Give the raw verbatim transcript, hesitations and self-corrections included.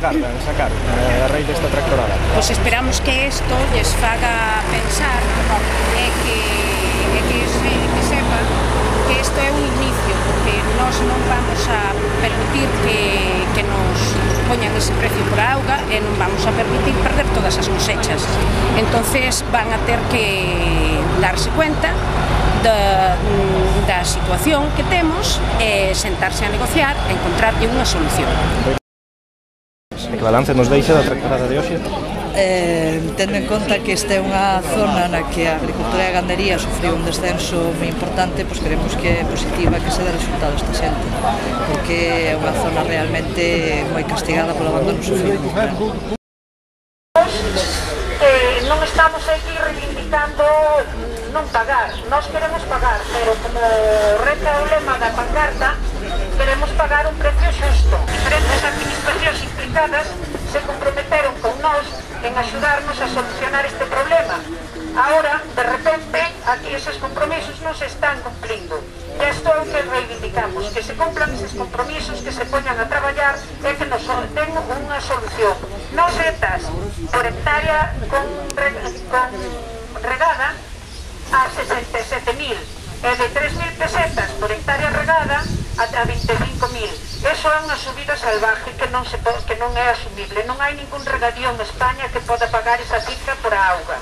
agardan sacar a raíz desta tractorada? Pois esperamos que isto lles faga pensar e que, e que, se, que sepa que isto é un inicio, porque nós non vamos a permitir que, que nos poñan ese precio por a auga e non vamos a permitir perder todas as cosechas. Entonces van a ter que darse cuenta da, da situación que temos e sentarse a negociar e encontrarlle unha solución. Que balance nos deixa da tractorada de hoxe? Eh, tendo en conta que esta é unha zona na que a agricultura e a gandería sufriu un descenso moi importante, pois queremos que é positiva que se dé resultado esta xente, porque é unha zona realmente moi castigada polo abandono sufrido. Eh, non estamos aquí reivindicando non pagar, nós queremos pagar, pero como reza o lema da pancarta, queremos pagar un precio xusto. Diferentes administracións implicadas se comprometeron con nós en axudarnos a solucionar este problema. Ahora, de repente, aquí esos compromisos non se están cumplindo. E isto é o que reivindicamos, que se cumplan esos compromisos, que se poñan a traballar e que nos den unha solución. Nos retas por hectárea con, con regada a sesenta e sete mil e de tres mil pesetas por hectárea regada a vinte e cinco mil. Eso é unha subida salvaje que non, se, que non é asumible. Non hai ningún regadío en España que poda pagar esa cifra por a auga.